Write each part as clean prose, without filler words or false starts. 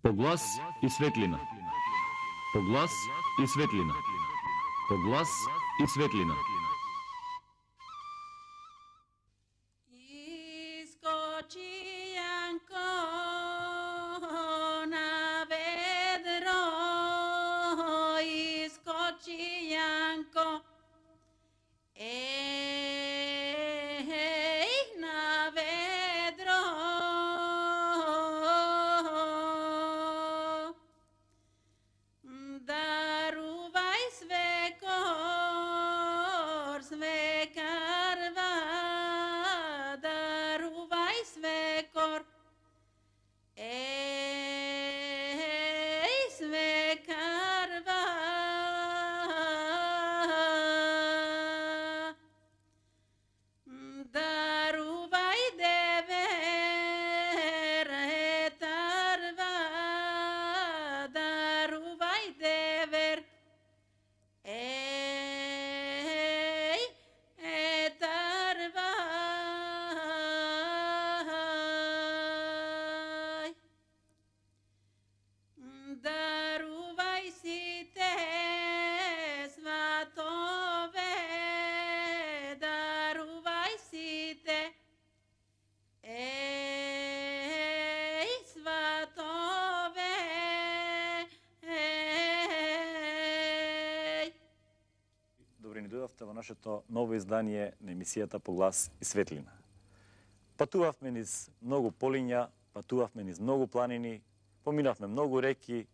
По глас и светлина. По глас и светлина. По глас и светлина. Искочи Јанко на ведро, искочи Јанко, на ведро. Дарувај свекор, свекарва, дарувај свекор, свекарва. Дарувај девер, етарва, дарувај девер, етарва. Дарувај сите сватове, дарувај сите сватове. Добре ни дојдовте во нашето ново издание на емисијата По глас и светлина. Патувавме низ многу полиња, патувавме низ многу планини, поминавме многу реки,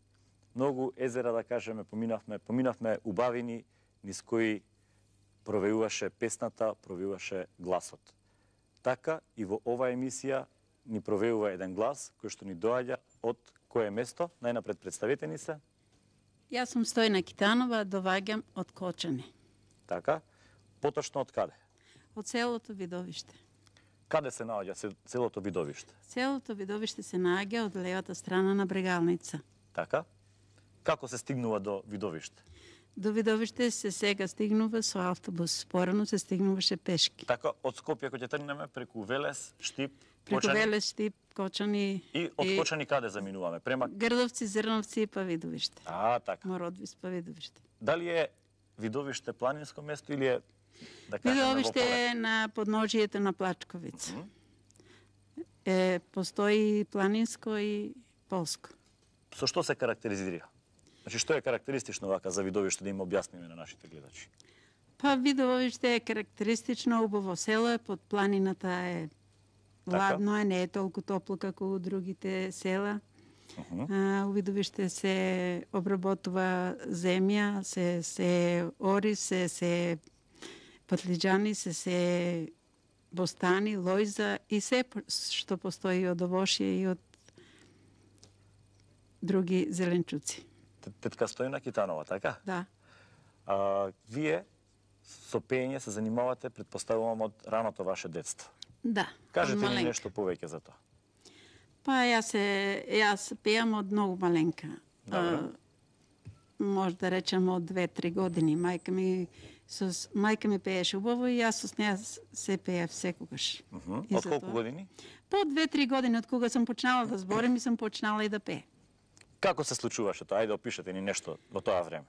многу езера, да кажеме, поминавме убавини низ кои провеуваше песната, провеуваше гласот. Така и во оваа емисија ни провеува еден глас кој што ни доаѓа од кое место? Најнапред представете ни се. Јас сум Стојна Китанова, доваѓам од Кочани, Така. Поточно од каде? од селото Видовиште. Каде се наоѓа целото Видовиште? Селото Видовиште се наоѓа од левата страна на Брегалница. Така. Како се стигнува до Видовиште? До Видовиште се сега стигнува со автобус, порано се стигнуваше пешки. Така, од Скопје кој ќе тргнеме преку Велес, Штип, Преку Кочани. Велес, Штип, Кочани И од Кочани каде заминуваме? Према... Грдовци, Зрновци па Видовиште. Така. Мородвис па Видовиште. Дали е Видовиште планинско место или е, да кажеме, Видовиште во е на подножието на Плачковица. Постои планинско и полско. Со што се карактеризира? Значи, што е карактеристично вака за Видовиште да им објасниме на нашите гледачи? Па Видовиште е карактеристично, убаво село е, под планината е ладно е, не е толку топло како у другите села. У Видовиште се обработува земја, се ориз, се патлиџани, се бостани, лојза и се што постои од овошје и од други зеленчуци. Тетка Стојна Китанова, така? Да. Вие со пеење се занимавате, предпоставувам, од раното ваше детство. Да. Кажете ни нешто повеќе за тоа. Па јас пеам од многу маленка. Може да речем од 2-3 години. Мајка ми пееше убаво и јас со неа се пеев секогаш. Од колку години? По 2-3 години, од кога сум почнала да зборам и сум почнала и да пеем. Како се случуваше тоа? Ајде опишете ни нешто во тоа време.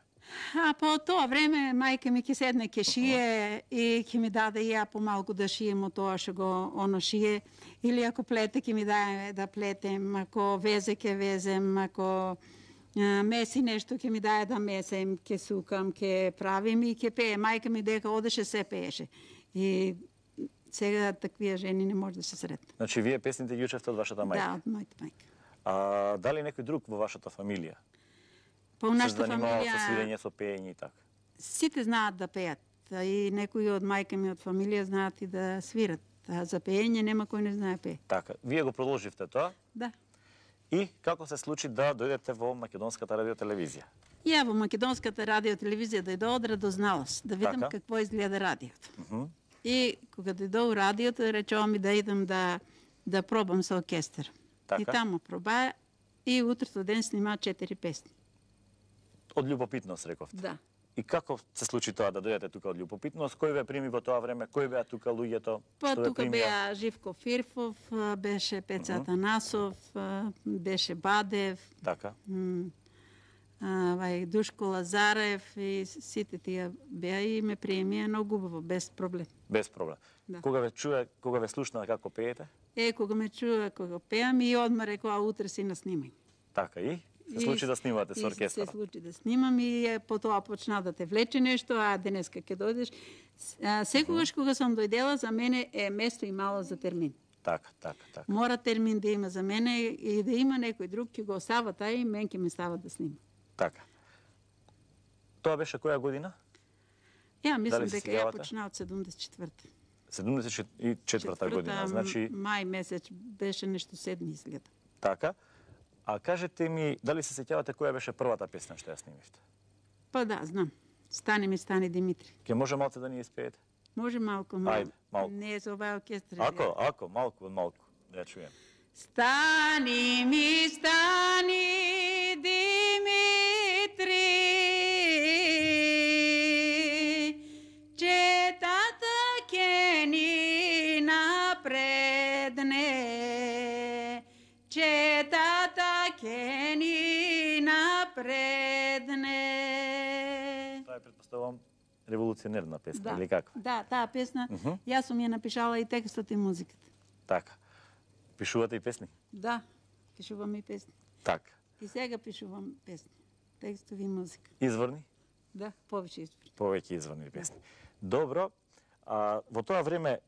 По тоа време мајка ми ќе седне ќе шие и ќе ми даде и ја помалку да шием од тоа што го оно шие. Или ако плете ќе ми даде да плетем, ако везе ќе везем, ако меси нешто ќе ми даде да месем, ќе сукам, ќе правим и ќе пее. Мајка ми дека одеше се пееше. И сега таквија жени не може да се сретне. Значи вие песните ги учевте од вашата мајка? Да, од мојата мајка. Дали некој друг во вашата фамилија? Па у нашата фамилија со свирење, со пеење и така? Сите знаат да пеат. И некои од мајка ми од фамилија знаат и да свират. А за пеење нема кој не знае пее. Така. Вие го продолживте тоа? Да. И како се случи да дојдете во Македонската радиотелевизија? Ја во Македонската радиотелевизија дојдо од радозналост, да видам какво изгледа радиото. И кога дојдо у радиото, речео ми да идам да пробам со оркестар. И таму проба и утрото ден снима 4 песни. Од љубопитност, рековте? Да. И како се случи тоа да дојдете тука од љубопитност? Кој ве прими во тоа време? Кој беа тука луѓето? Па што ве тука примија? беа Живко Фирфов, беше Пеца Атанасов, беше Бадев, Така. Душко Лазарев и сите тие беа и ме приемија многу убаво, без проблем. Без проблем. Да. Кога ве слушна како пеете? Кога ме чува кога пеам и одма рекоа утре си на снимање. Така и? Се случи да снимате со оркестар? Се случи да снимам и потоа почна да те влече нешто, а денеска ќе дојдеш. Секогаш кога сум дојдела, за мене е место и мало за термин. Така. Мора термин да има за мене и да има некој друг ќе го остава тај и мен ќе ме става да снимам. Така. Тоа беше која година? Ја мислам Дали се дека ја сеќавате? почна од 74-та. 74-та година, значи мај месец беше нешто 7 изгледа. така. А кажете ми, дали се сеќавате која беше првата песна што ја снимивте? Па да, знам. Стани ми, стани Димитри. Ке може малце да ни испеете? Може малку, Ајде, малку. Не е за овај оркестар. Ако, малку, да ја чуем. Стани ми, стани Димитри, четата ке ни напредне, четата ке ни напредне. Тоа е, претпоставувам, револуционерна песна, Да, или како? да, таа песна, јас сум ја напишала и текстот и музиката. Така. Пишувате и песни? Да, пишувам и песни. Така. И сега пишувам песни, текстови и музика. Изворни? Да, повеќе избори. Повеќе изворни песни. Добро. Во тоа време,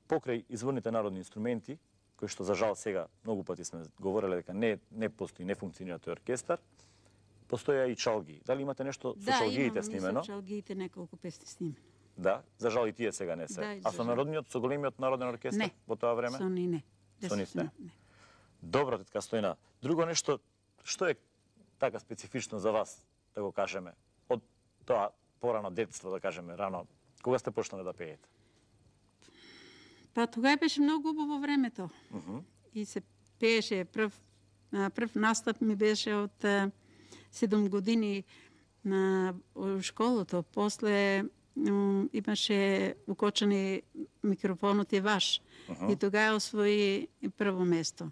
покрај изворните народни инструменти, кои што за жал сега многу пати сме говореле дека не постои, не функционира тој оркестар, постоја и чалги. Дали имате нешто со чалгиите снимено? Да, имам и со чалгиите неколку песни снимено. Да, за жал и тие сега не се. Да, и А за со жал. народниот, со големиот народен оркестар Не. во тоа време? Со ни не. Со нив не. Добро, тетка Стојна. Друго нешто, што е така специфично за вас, да го кажеме, од тоа порано детство, да кажеме, рано, кога сте почнале да пеете? Па тогава беше многу убаво времето. И се пееше прв настап ми беше од 7 години на школото. После имаше укочани микрофонот е ваш. И тогава освои прво место.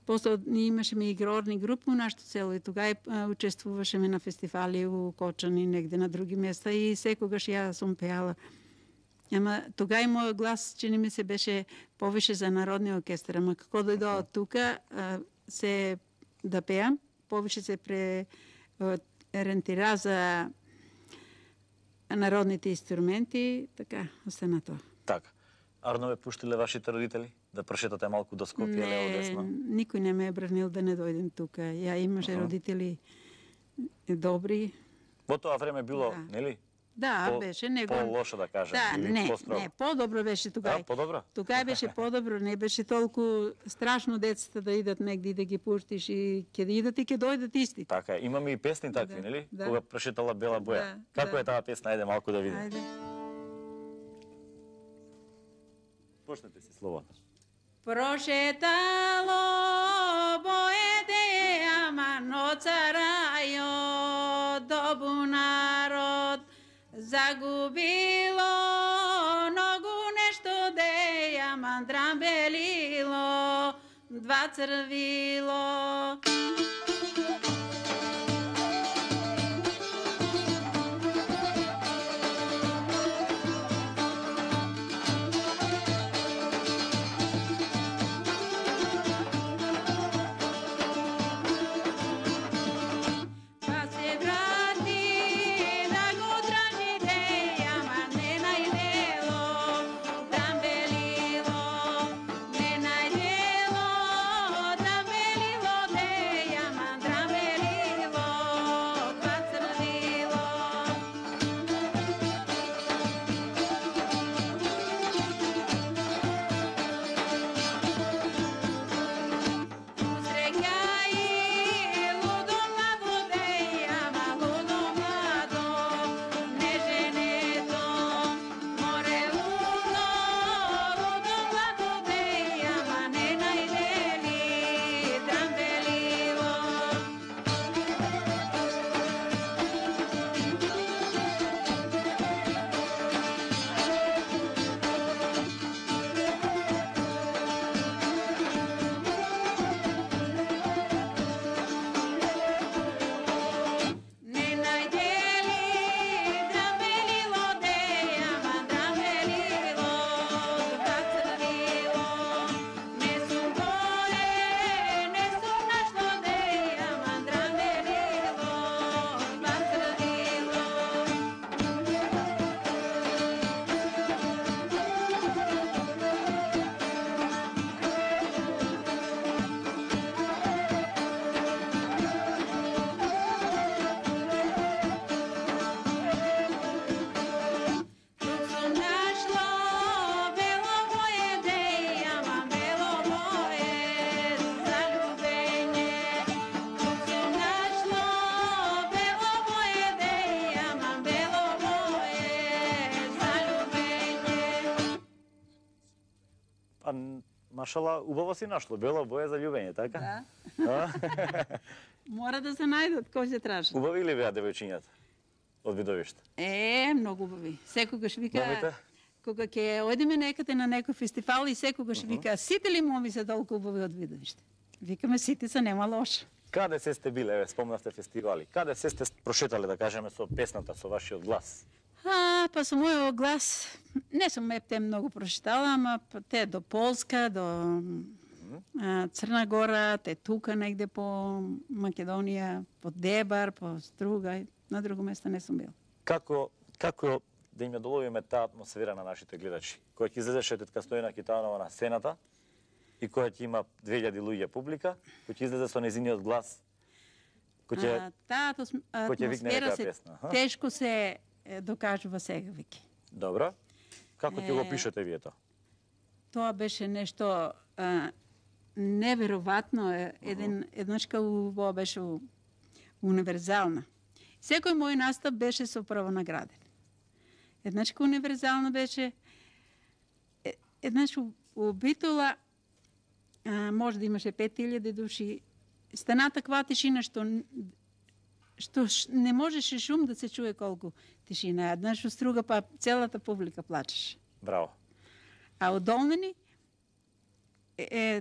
После имаше игрорни групи у нашето село и тогава учествувашеме на фестивали у Кочани, негде на други места и секогаш ја сум пеала. Ама тогава и мојот глас, чини ми се, беше повише за народни оркестар. Ама како дојдоа од тука, се да пеам, повише се ориентира за народните инструменти, така, остана тоа. Така. Арно ве пуштиле вашите родители да прошетате малку до Скопје лево десно? Никој не ме е бранил да не дојдем тука. Ја имаше родители добри. Во тоа време било, Да. нели? Да, беше него. По-лошо да кажем, Да, или не, по-строго? не, подобро беше тогава. Да, подобро? Тогава беше подобро, не беше толку страшно децата да идат негде и да ги пуштиш и ќе да идат и ќе дојдат исти. Така е. Имаме и песни такви, Да, нели? да. Кога прошетала Бела боја. Да, Како да. е таа песна? Ајде малку да видиме. Ајде. Почнете си словото. Прошетало боеде, ама ноцарајо добу народ, загубило многу нешто де, ама драмбелило, два црвило. Па се врати да го тражи де, ама не најдело, дамбелило, не најдело, дамбелило де, ама машала, убаво си нашло, бела боја за љубење, така? Да. Мора да се најдат, кој се тражи. Убави ли беа девојчињата од Видовиште? Многу убави. Секогаш вика, Момите? кога ќе одиме некаде на некој фестивал и секогаш вика, сите ли моми се толку убави од Видовиште? Викаме, сите се, нема лошо. Каде се сте биле, спомнавте фестивали? Каде се сте прошетале, да кажеме, со песната, со вашиот глас? Па со мојот глас, не сум те многу прочитала, ама те до Полска, до Црна Гора, те тука негде по Македонија, по Дебар, по Струга, на друго место не сум бил. Како да им ја доловиме таа атмосфера на нашите гледачи? Која ќе излезеше тетка Стојана Китанова на сцената и која ќе има 2000 луѓе публика, кој ќе излезе со незиниот глас, таа атмосфера се тешко се докажува сега веќе. Добро. Како ќе го пишете вие тоа? Тоа беше нешто неверојатно, еднашка убава беше универзална. Секој мој настап беше со прво награден. Еднашка универзална беше, еднаш у Битола може да имаше 5000 души. Стана таква тишина што не можеше шум да се чуе колку тишина. Еднаш у Струга па целата публика плачеше. Браво. А од Долнени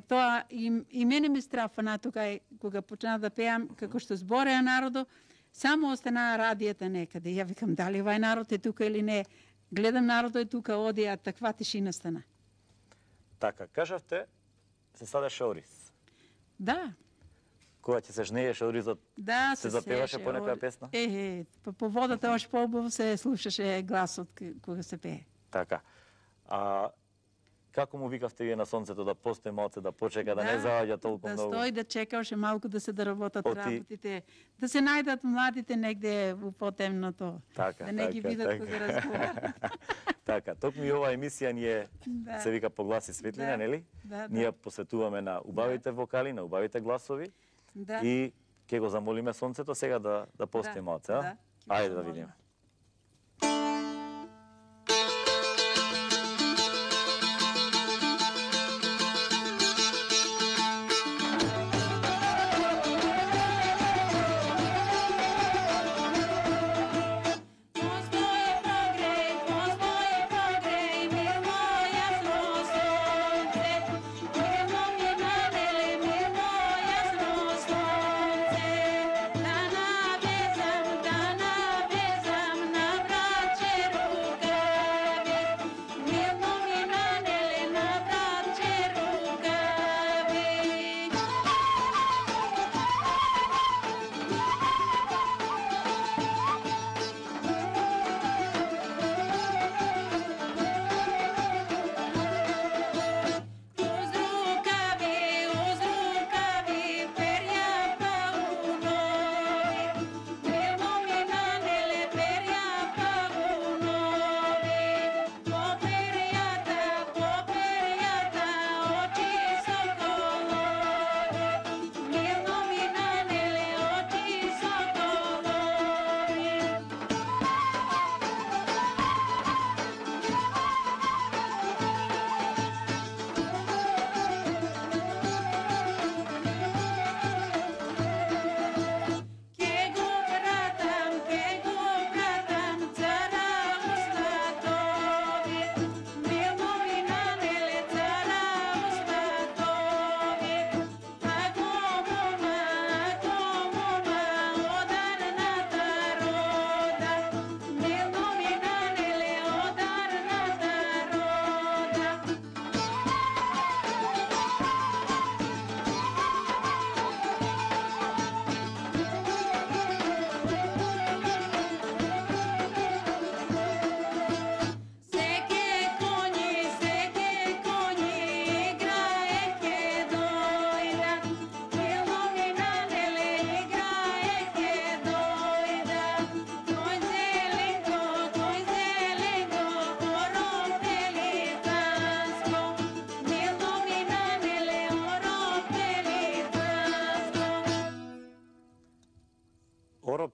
тоа и мене ме страфана тука кога почна да пеам како што збореа народо, само остана радијата некаде. Ја викам дали овај народ е тука или не. Гледам народот е тука, оди, а таква тишина стана. Така, кажавте, се садеше ориз. Да. Кога ќе се жнееше оризот, да, се запеваше по некоја песна? По водата ош поубаво се слушаше гласот кога се пее. Така. Како му викавте вие на сонцето да постои малце, да почека, да не заоѓа толку многу? Да стои, да чека оше малку да се доработат работите, да се најдат младите негде во потемното, да не ги видат кога разговарат. Така, токму и оваа емисија ни е, се вика По глас и светлина, нели? Ние посветуваме на убавите вокали, на убавите гласови и ќе го замолиме сонцето сега да постои малце, а? Ајде да видиме.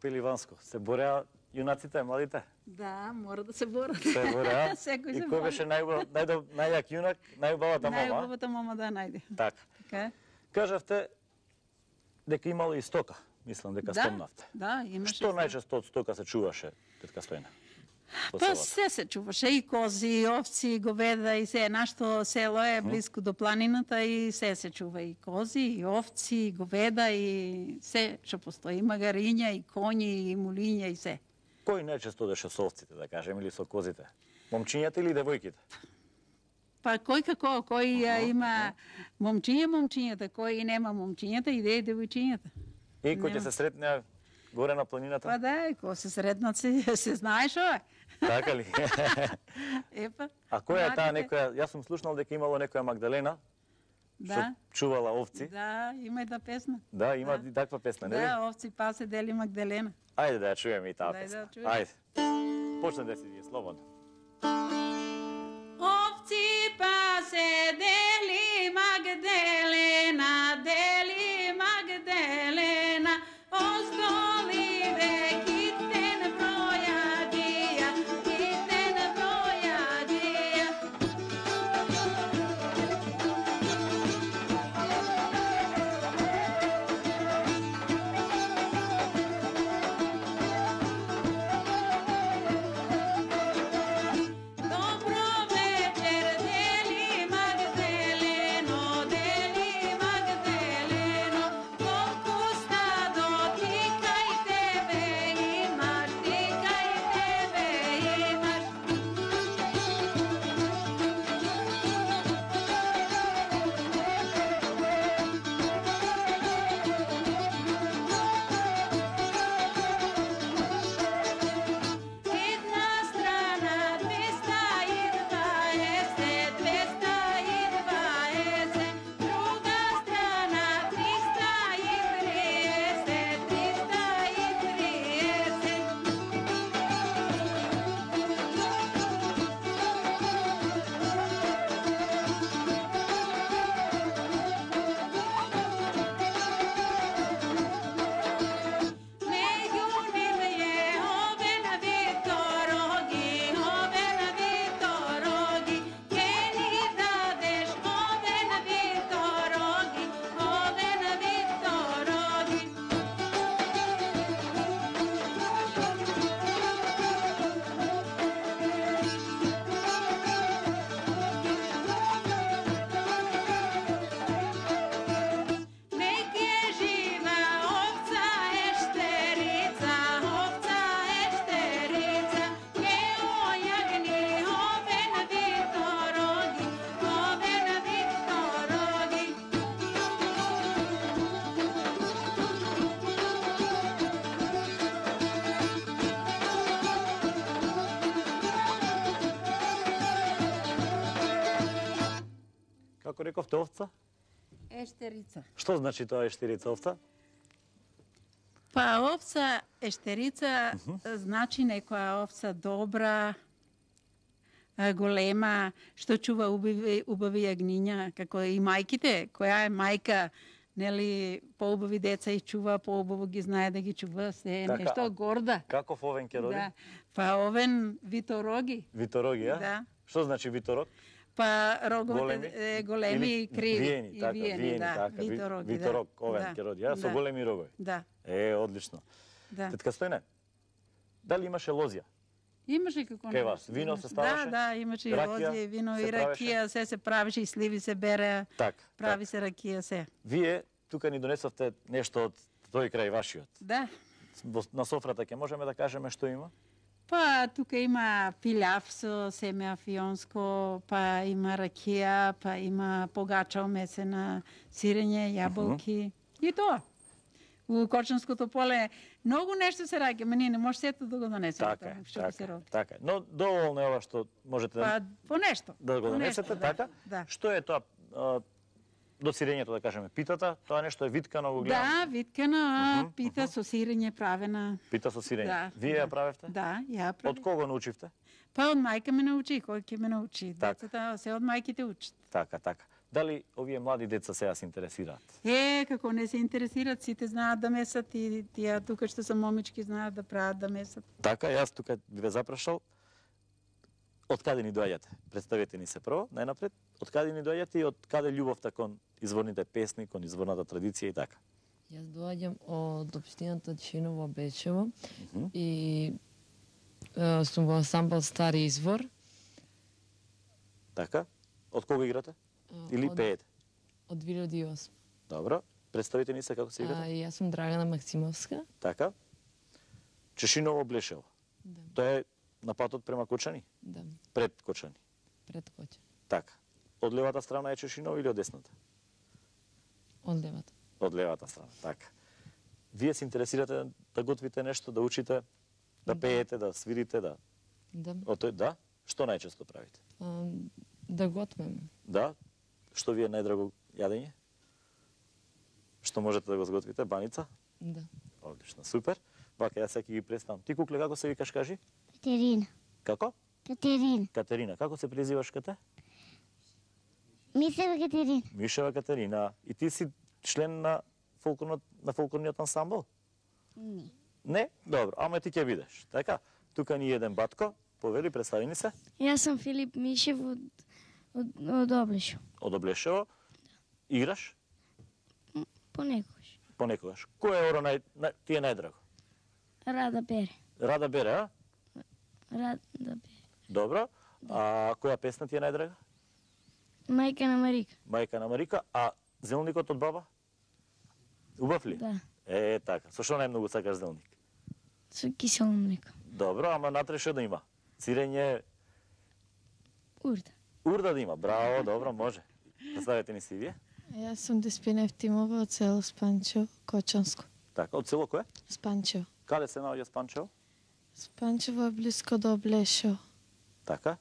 Пеливанско се бореа јунаците, младите? Да, мора да се борат. Се боре, а? Секој И се кој бори. беше најјак јунак, најубавата мама? Најубавата мама да најде. Така. Така е. Кажавте дека имало и стока, мислам дека спомнавте. Да, имаше. Што најчесто од стока се чуваше, тетка Стојна? По Па селото? се се чуваше, и кози, и овци, и говеда, и се. Нашто село е близко до планината и се чува и кози, и овци, и говеда, и се што постои. И магариња, и коњи, и мулиња, и се. Кој најчесто одеше со овците, да кажем, или со козите? Момчињата или девојките? Па кој како, кој има момчињата, кој нема момчињата, иде и девојчињата. И кој ќе се сретне горе на планината? Па да, кој се сретнат се знае шо е. Така ли? Епа. А која е таа младите- некоја, јас сум слушнал дека имало некоја Магдалена, што Да, чувала овци. да, има и да песна. Да, има Да. и таква песна, нели? Да, овци пасе дели Магделена. Ајде да ја чуеме и таа Дај да песна. чуеме. Ајде. Почне да си вие слободно. Овци пасе дели Магделена, оздоливе китен бројадија, китен бројадија. Добро вечер, дели Магделено, колку стадо ти кај тебе имаш, ти кај тебе имаш. Една страна 220, друга страна 330. Među njim je Oven Vitorogi, ke ni dadeš Oven Vitorogi. Neke živa ovca ešterica, ke ojagni Oven Vitorogi. Како рековте овца? Ештерица. Што значи тоа ештирица овца? Па овца ештерица значи некоја овца добра, голема, што чува убави јагниња, како и мајките, која е мајка, нели, поубави деца и чува, поубаво ги знае да ги чува, се е Така, нешто а горда. Каков овен ќе роди? Да. Па овен Витороги. Витороги, а? Да. Што значи виторог? Па роговете големи Или и криви. виени, И така, виени, да. така. Витороги, Виторог, да. овен Да. ќе роди, а? Со Да. големи рогови. Да, Одлично. да. Тетка Стојне, дали имаше лозја? Имаше како Кај вас? Вино се ставаше? Да, имаше и Ракија лозија, и вино, се и ракија, се правеше, и сливи се бере, Так. прави се ракија, се. Вие тука ни донесовте нешто од тој крај вашиот. Да. На софрата ќе можеме да кажеме што има? Па тука има пилјав со семе афионско, па има ракија, па има погача омесена, сирење, јаболки и тоа. У Кочанското поле многу нешто се раѓа, ма ние не може сето да го донесеме Така, тоа, што ќе се роди. така. Но доволно е ова што можете Па по нешто. да го по нешто, донесете, да, така? Да. Што е тоа до сирењето, да кажеме, питата? Тоа нешто е виткано, го гледам. Да, виткана, пита со сирење правена. Пита со сирење. Да, Вие ја правевте? Да, ја Од правев. кого научивте? Па од мајка ме научи, кој ќе ме научи? Така. Децата се од мајките учат. Така, така. Дали овие млади деца сега се интересираат? Како не се интересираат, сите знаат да месат и тие тука што се момички знаат да прават да месат. Така, јас тука би ве запрашал, од каде ни доаѓате? Представете ни се прво, најнапред, од каде ни доаѓате и од каде љубовта кон изворните песни, кон изворната традиција и така? Јас доаѓам од општината Чиново, Бечево и сум во ансамбл Стари извор. Така? Од кого играте? Или пеете? Од 2008. Добро. Представете ни се како се играте? Јас сум Драгана Максимовска. Така? Чешиново, Блешево. Да. Тоа е на патот према Кочани? Да, Пред Кочани. пред Кочани. Така. Од левата страна е Чешиново или од десната? Од левата. Од левата страна, така. Вие се интересирате да готвите нешто, да учите, да пеете, да свирите, да... Да. Да? Што најчесто правите? Да готвиме. Да? Што ви е најдраго јадење? Што можете да го сготвите? Баница? Да. Одлично, супер. Вака, јас сега ги представам. Ти, кукле, како се викаш, кажи? Катерина. Како? Катерина. Катерина. Како се презиваш кате? Мишева Катерина. Мишева Катерина. И ти си член на фолклорниот ансамбл? Не. Не? Добро, ама ти ќе бидеш. Така? Тука ни еден батко. Повели, представи ни се. Јас сум Филип Мишев од Облешо. Од Облешево. Играш? Понекогаш. Понекогаш. Кој е оро ти е најдраго? Рада Бере. Рада Бере, а? Рада Бере. Добро. А која песна ти е најдрага? Мајка на Марика. Мајка на Марика. А зелникот од баба? Убав ли? Да. Така. Со што најмногу сакаш зелник? Со кисело млеко. Добро, ама натре што да има? Цирење, Урда. урда да има. Браво, добро, може. Представете ни си вие. Јас сум Деспина Евтимова од село Спанчево, Кочанско. Така, од село кое? Спанчево. Каде се наоѓа Спанчево? Спанчево е близко до Блешево. Така.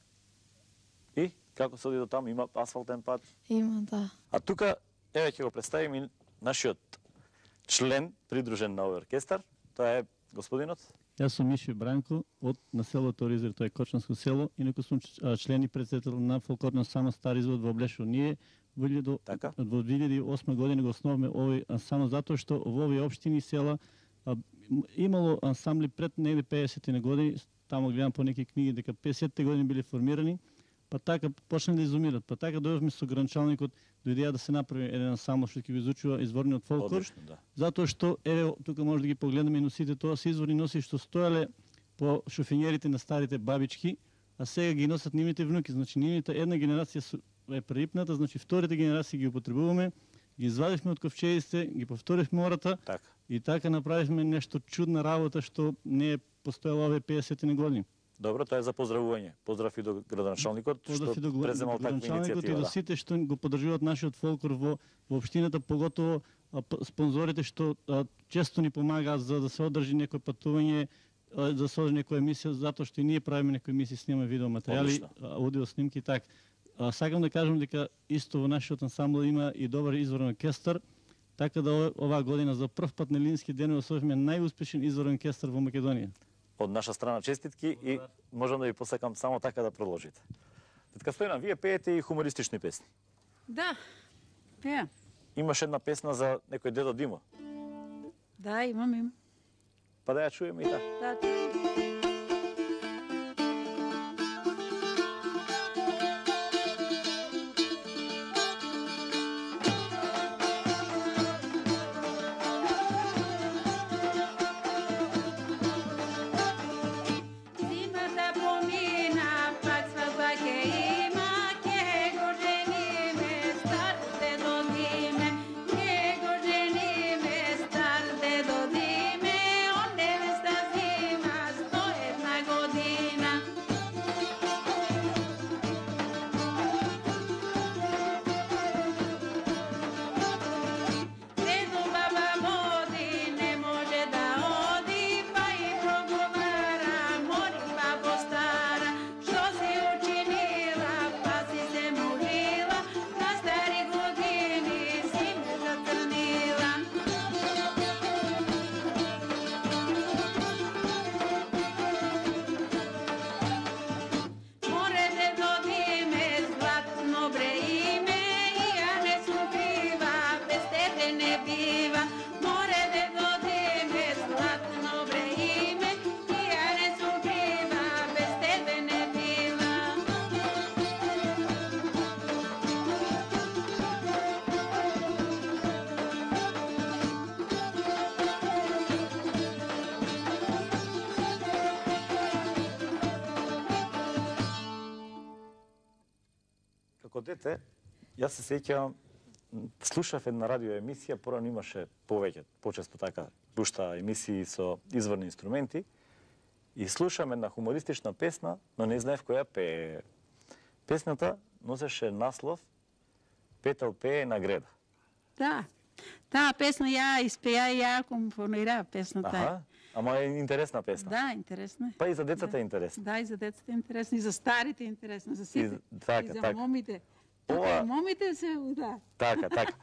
И како се оди до таму? Има асфалтен пат? Има, да. А тука, еве ќе го представим и нашиот член, придружен на овој оркестар. Тоа е господинот. Јас сум Мишо Бранко од населото Оризер, тоа е Кочанско село, инаку сум член и председател на фолклорниот ансамбл Стари извор во Блешево. Ние во 2008 година го основавме овој ансамбл затоа што во овие општини и села имало ансамбли пред негде 50-ти години, таму гледам по неки книги дека 50-ти години биле формирани, па така почнале да изумират. Па така дојавме со гранчалникот до идеја да се направи еден ансамбл што ќе го изучува изворниот фолклор. Одлично, да. Затоа што еве тука може да ги погледнеме и носите, тоа се изворни носи што стоеле по шофинерите на старите бабички, а сега ги носат нивните внуки. Значи нивната една генерација е прерипната, значи вторите генерации ги употребуваме, ги извадивме од ковчегите, ги повторивме ората Така. и така направивме нешто чудна работа што не е постоело овие 50 години. Добро, тоа е за поздравување. Поздрав и до градоначалникот што преземал таква иницијатива. И до сите што го поддржуваат нашиот фолклор во општината, поготово спонзорите што често ни помагаат за да се одржи некој патување, да се одржи некоја емисија, затоа што и ние правиме некои емисии, снимаме видео материјали, аудио снимки и така. Сакам да кажам дека исто во нашиот ансамбл има и добар изворен оркестар, така да оваа година за прв пат на Лински ден освоивме најуспешен изворен оркестар во Македонија. Од наша страна честитки и можам да ви посакам само така да продолжите. Тетка Стојна, вие пеете и хумористични песни. Да, пеам. Имаш една песна за некој дедо Димо. Да, имам. Па да ја чуеме и така. Да, Dime, како дете, јас се сеќавам, слушав една радио емисија, порано имаше повеќе, почесто така, пушта емисии со изворни инструменти, и слушам една хумористична песна, но не знаев која пее. Песната носеше наслов Петел пее на греда. Да. Таа песна ја испеја и ја компонирав песната. Аха, ама е интересна песна. Да, интересна. Па и за децата е интересна. Да, и за децата е интересна, и за старите е интересна, за сите. Така, и за така. момите. Тука момите се, да. Така, така.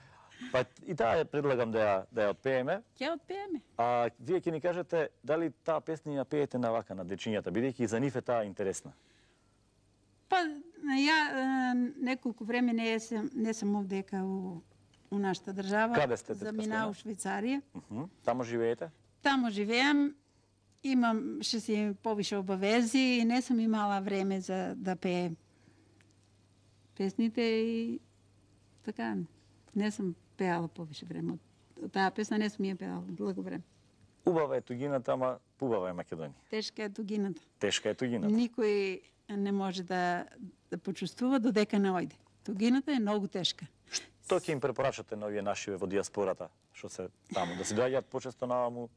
Па и таа ја предлагам да ја отпееме. Ќе отпееме. А вие ќе ни кажете дали таа песна ја пеете на вака на дечињата, бидејќи за нив е таа интересна. Па ја неколку време не сум овдека у нашата држава. Каде сте, тетка замина у Швајцарија. Тамо живеете? Тамо живеам. Имам си повише обавези и не сум имала време за да пеем песните и така. Не сум пеала повише време. Таа песна не сум ја пеала долго време. Убава е тугината, ама убава е Македонија. Тешка е тугината. Тешка е тугината. Никој не може да почувствува додека не ојде. Тугината е многу тешка. Што ќе им препорачате на овие нашиве во диаспората, што се таму, да се доаѓаат почесто наваму?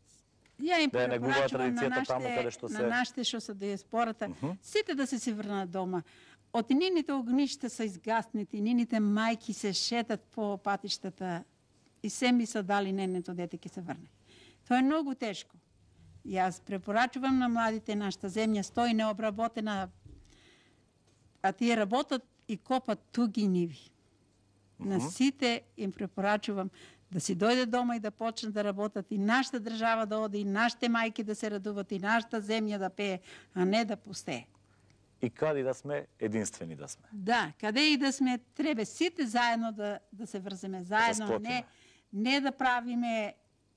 Ја им да негуваат препорачувам традицијата таму каде што се на нашите што се диаспората, сите да се врнат дома. Од нините огништа се изгаснати, нините мајки се шетат по патиштата и се ми се дали ненето дете ќе се врне. Тоа е многу тешко. Јас препорачувам на младите, нашата земја стои необработена, а тие работат и копат туги ниви. На сите им препорачувам да си дојде дома и да почнат да работат и нашата држава да оди, и нашите мајки да се радуват, и нашата земја да пее, а не да пустее. И каде да сме, единствени да сме. Да, каде и да сме, треба сите заедно да се врземе, заедно, не да правиме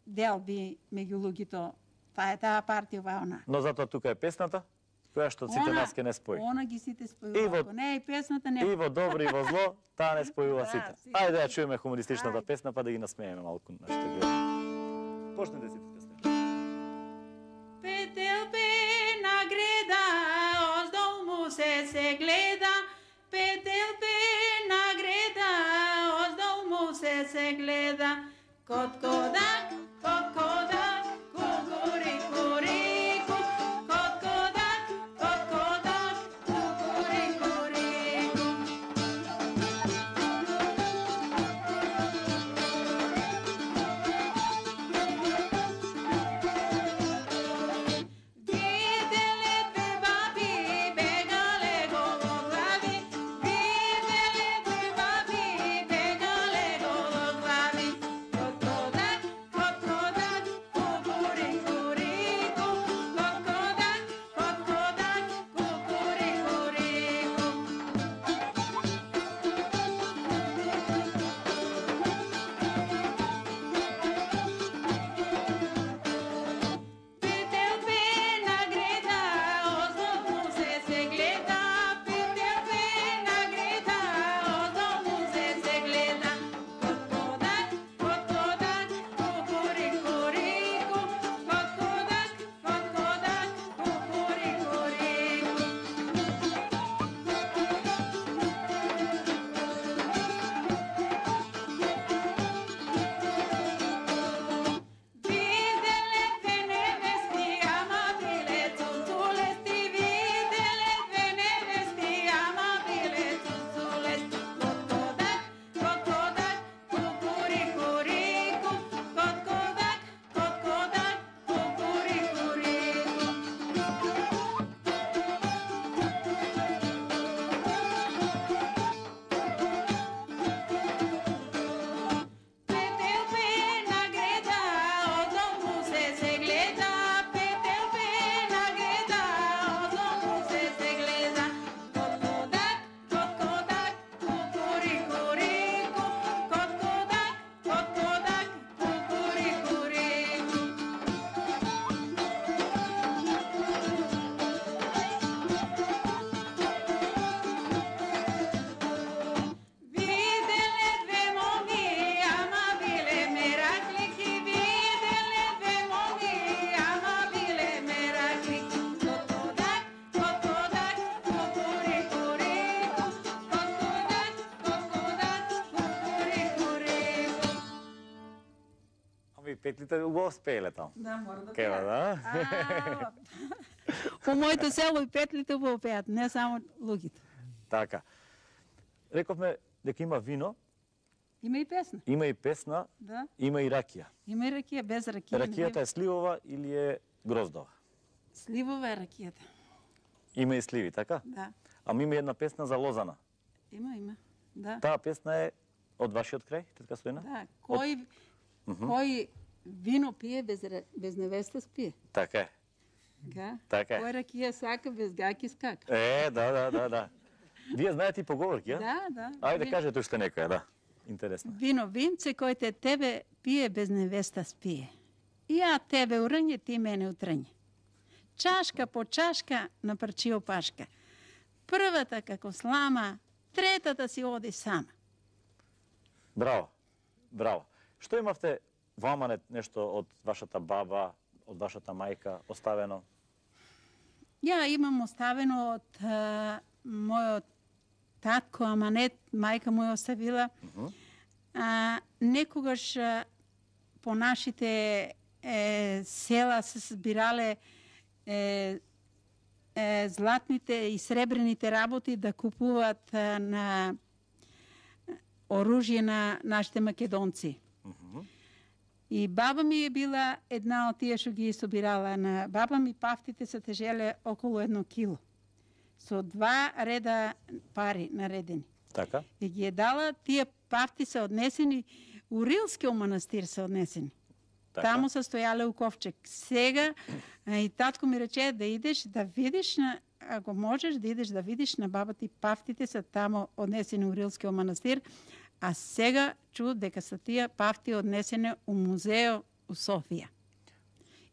делби меѓу луѓето. Таа партија, ова она. Но затоа тука е песната, која што сите нас ке не спои. Она ги сите спојува. Ако не е песната, не. И во добро и во зло, таа не спојува сите. Ајде да ја чуеме хумористичната песна, па да ги насмееме малку нашите гледачи. Почнете сите песна. Петел пе на греда, оздол му се гледа. Петел пе на греда, оздол му се гледа. Коткодак, коткодак, кукурику рику. Коткодак, коткодак, кукурику рику. Виделе две баби, бегале гологлави. Виделе две баби, бегале гологлави. Коткодак, и петлите го спееле таму. Да, мора да Кева, да? По моето село и петлите го пеат, не само луѓето. Така. Рековме дека има вино, Има и песна. има и песна, Да. има и ракија. Има и ракија, без ракија. Ракијата е сливова или е гроздова? Сливова е ракијата. Има и сливи, така? Да. Ама има една песна за лозана. Има. Да. Таа песна е од вашиот крај, тетка Стојна? Да. Кој вино пие без невеста спие. Така е. Така е. Кој ракија сака без гаки скака. Да. Вие знаете и поговорки, а? Да. Ајде, кажете уште некоја, да. Интересно. Винце кој те тебе пие без невеста спие. И ја тебе урње, ти мене утрње. Чашка по чашка на парчи опашка. Првата како слама, третата си оди сама. Браво. Што имавте во аманет нешто од вашата баба, од вашата мајка оставено? Ја имам оставено од мојот татко аманет, мајка му ја оставила. Некогаш по нашите села се збирале златните и сребрените работи да купуваат на оружје на нашите македонци. И баба ми е била една од тие што ги собирала. На баба ми пафтите се тежеле околу 1 кило. Со 2 реда пари наредени. Така? И ги е дала, тие пафти се однесени, у Рилскиот манастир се однесени. Така? Таму се стојале у ковчег. Сега и татко ми рече да идеш да видиш, ако можеш да идеш да видиш на баба ти, пафтите се таму однесени у Рилскиот манастир, а сега чу дека се тие пафти однесени у музео у Софија.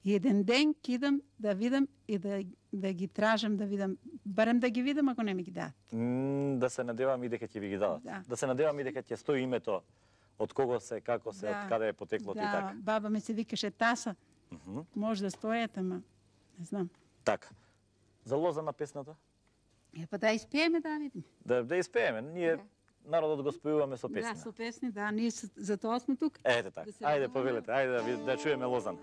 И еден ден кидам да видам и да ги тражам да видам, барем да ги видам ако не ми ги дадат. Да се надевам и дека ќе ви ги дадат. Да се надевам и дека ќе стои името од кого се, како се, од каде е потеклото и така. Баба ми се викаше Таса. Може да стојат, ама не знам. Така. За лозана песната? Па да испееме, да видим. Да испееме. Ние народот го спојуваме со песни. Да, со песни, да. Ние за тоа сме тук. Ете така. Ајде, повелете. Ајде да чуеме лозана.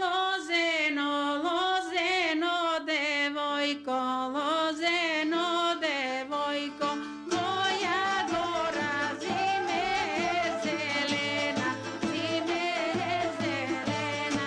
Лозено, лозено, девојко, лозено, девојко, моја гора зиме зелена, зиме зелена.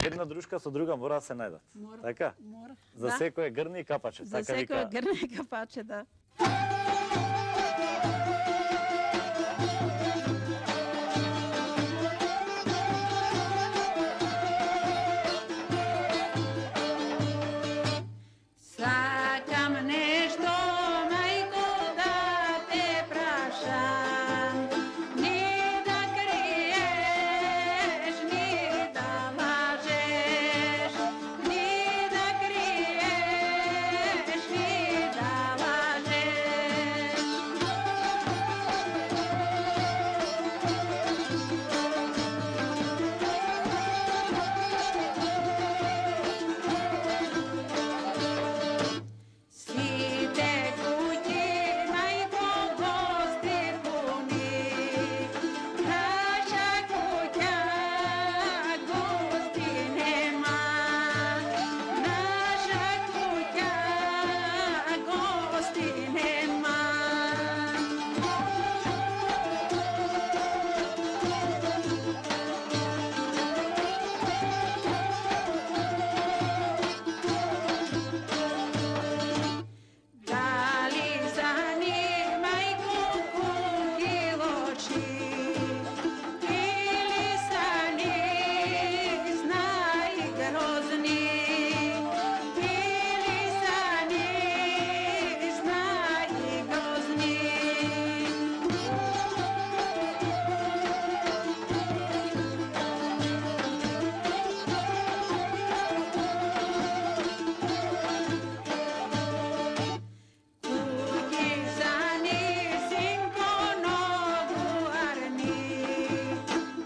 Една дружка со друга мора да се најдат. Мора. Така? Мора. За секој грне и капаче. За така секој вика. грне и капаче, да. Сакам нешто, мајко, да те прашам, ни да криеш, ни да лажеш, ни да криеш, ни да лажеш. Сите куќи, мајко, гости пуни, наша куќа гости нема, наша куќа гости нема. Дали сани, мајко, куки лочи, или сани знаи грозни, или сани знаи грозни. Куки сани, синко многу арни,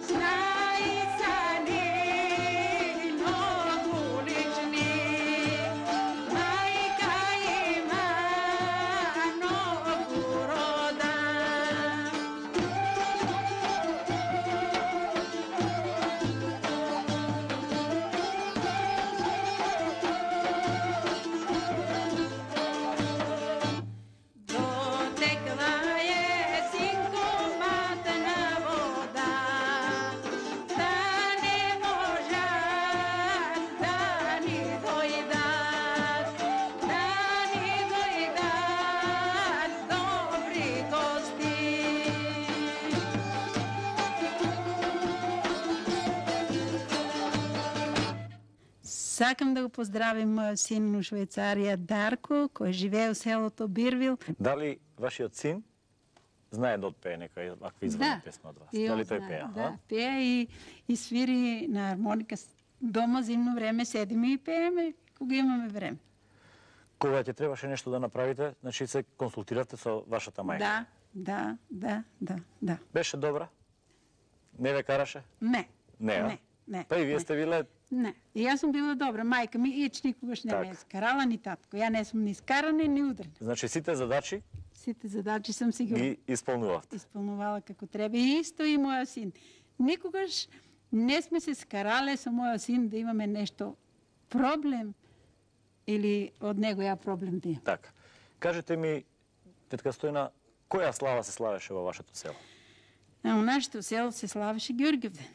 знаи сани многу лични, мајка има многу рода. Дотекла е синко матна вода, да не можат да ни дојдат, да ни дојдат добри гости. Сакам да го поздравим мојот син у Швајцарија Дарко, кој живее у селото Бирвил. Дали вашиот син знае да отпее некоја аква извадна песма од вас? и Дали он тој знае, пее? Да, пее и свири на армоника. Дома зимно време седиме и пееме кога имаме време. Кога ќе требаше нешто да направите, значи се консултиравте со вашата мајка? Да. Беше добра? Не ве караше? Не. Не, а? Не. Па и вие сте биле... Не. И јас сум била добра. Мајка ми ич никогаш не ме Так. скарала ни татко. Ја не сум ни скарана ни удрена. Значи сите задачи Сите задачи сум си ги ги исполнувавте. исполнувала како треба. И исто и мојот син. Никогаш не сме се скарале со мојот син да имаме нешто проблем или од него ја проблем да имам. Така. Кажете ми, тетка Стојна, која слава се славеше во вашето село? А у нашето село се славеше Ѓурѓевден.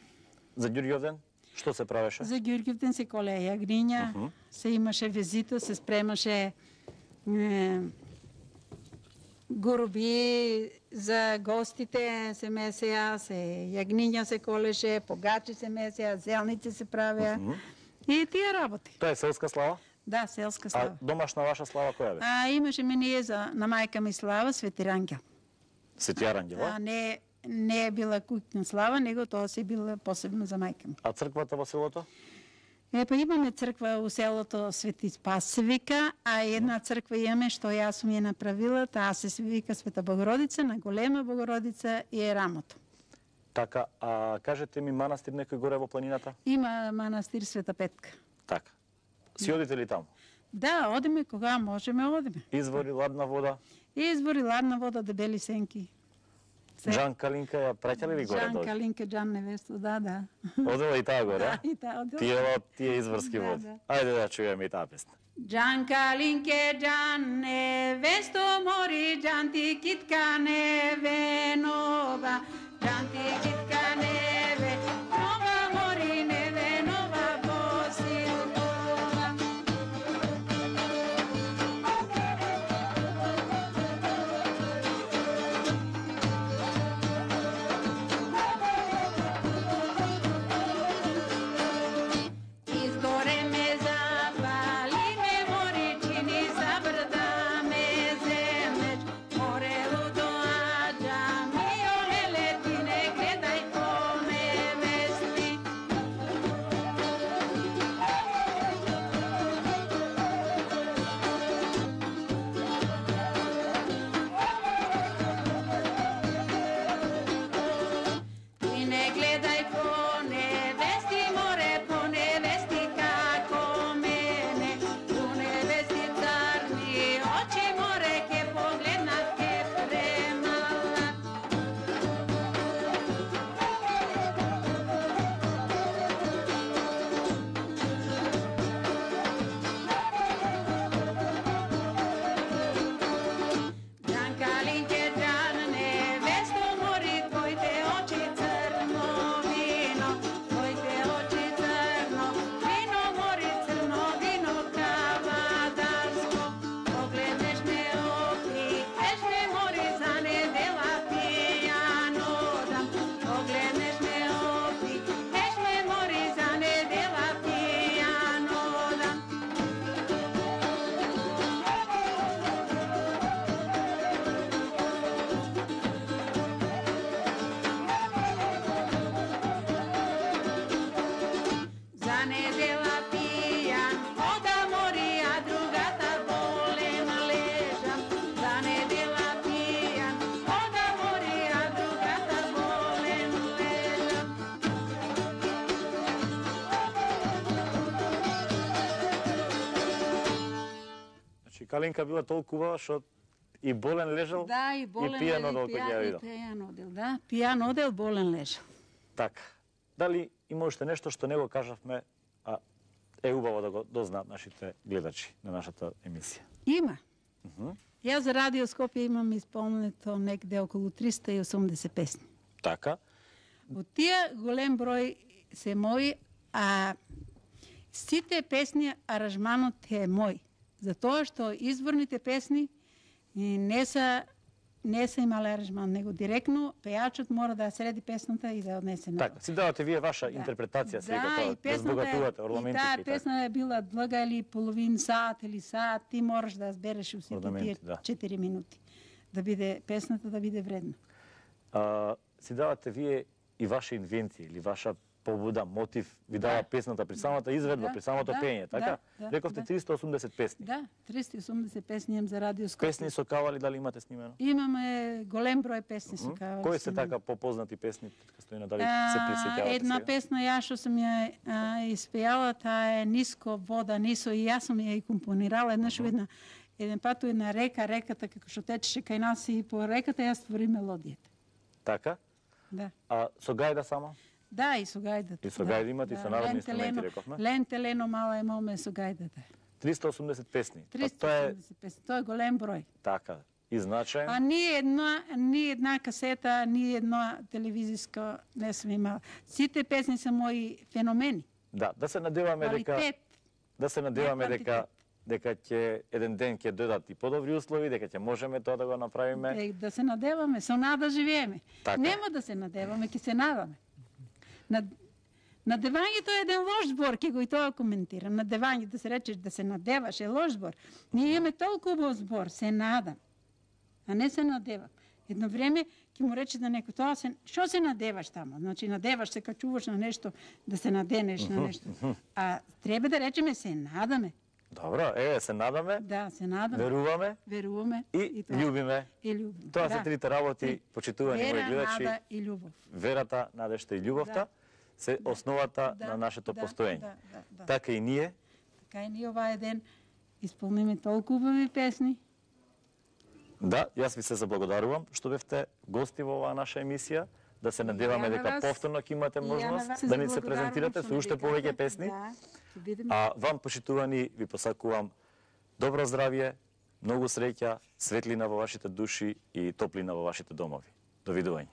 За Ѓурѓовден, што се правеше? За Ѓурѓевден се колеја јагниња, се имаше везито, се спремаше гуруби за гостите, се месеа, се јагниња се колеше, погачи се месеа, зелници се правеа и тие работи. Тоа е селска слава? Да, селска А слава. домашна ваша слава која беше? Имаше ние на мајка ми слава Свети Рангел. Свети Арангела? Не е била куќна слава, него тоа се била посебно за мајка ми. А црквата во селото? Па имаме црква у селото Свети Спас се вика, а една црква имаме што јас сум ја направила, таа се вика Света Богородица, на Голема Богородица и е рамото. Така, а кажете ми манастир некој горе во планината? Има манастир Света Петка. Така. Си одите ли таму? Да, одиме кога можеме, одиме. Извори, ладна вода? Извори, ладна вода, дебели сенки. Джан Калинка ја праќа ли горе Джан долу? Калинка, Джан невесто, да. Одела и таа горе, а? И таа одела. Тие изворски Да, води. да. Ајде да чуеме и таа песна. Джан Калинке, Джан невесто мори, Джан ти китка невенова, Джан ти китка невенова мори, невенова Калинка била толку убава што и болен лежал, Да, и болен и пијан одел кога ја видел. Пијан одел, да. Пијан одел, болен лежал. Така. Дали има уште нешто што не го кажавме, а е убаво да го дознаат нашите гледачи на нашата емисија? Има. Јас за Радио Скопје имам исполнето некде околу 380 песни. Така. Од тие голем број се мои, а сите песни аранжманот е мој. Затоа што изборните песни не се имале аранжман, него директно пејачот мора да среди песната и да однесе на. Така, си давате вие ваша интерпретација сега тоа, да збогатувате орнаментите. Да, песната е била длга или половин сат или сат, ти мораш да збереш у сите тие 4 минути. Да биде песната да биде вредна. Си давате вие и ваша инвенција или ваша побуда, мотив, ви дава песната при самата изведба, при самото пење, така? Рековте 380 песни. Да, 380 песни имам за Радио Скопје. Песни со кавали, дали имате снимено? Имаме голем број песни со кавали. Кои се така попознати песни, Стојна, дали се присеќавате? Една песна ја што сум ја испејала, таа е Ниско вода нисо, и јас сум ја и компонирала еднаш еден пат една реката како што течеше кај нас, и по реката јас створи мелодијата. Така? Да. А со гајда само? Да, и со гајдата. И со гајда имате, и со народни инструменти, рековме? Ленте лено мала е моме со гајдата. 380 песни. 380 песни, тоа е голем број. Така, и значаен. А ни една касета, ни една телевизиска не сме имала. Сите песни се мои феномени. Да се надеваме дека ќе еден ден ќе дојдат и подобри услови, дека ќе можеме тоа да го направиме. Да се надеваме, со нада живееме. Така. Нема да се надеваме, ќе се надаме. Надевањето е еден лош збор, ќе го и тоа коментирам. Надевање, да се речеш да се надеваш, е лош збор. Ние имаме толку убав збор, се надам, а не се надевам. Едно време ќе му рече да некој тоа што се надеваш тамо? Значи надеваш се, качуваш на нешто, да се наденеш на нешто. А треба да речеме се надаме. Добро, се надаме. Да, се надаме. Веруваме. И љубиме. Тоа се трите работи, почитувани мои гледачи. Вера, нада и љубов. Верата, надежта и љубовта се основата на нашето постоење. Така и ние. Така и ние овај ден исполниме толку убави песни. Да, јас ви се заблагодарувам што бевте гости во оваа наша емисија. Да се надеваме дека повторно ќе имате можност да ни се презентирате со уште повеќе песни. А вам, почитувани, ви посакувам добро здравје, многу среќа, светлина во вашите души и топлина во вашите домови. Довидување.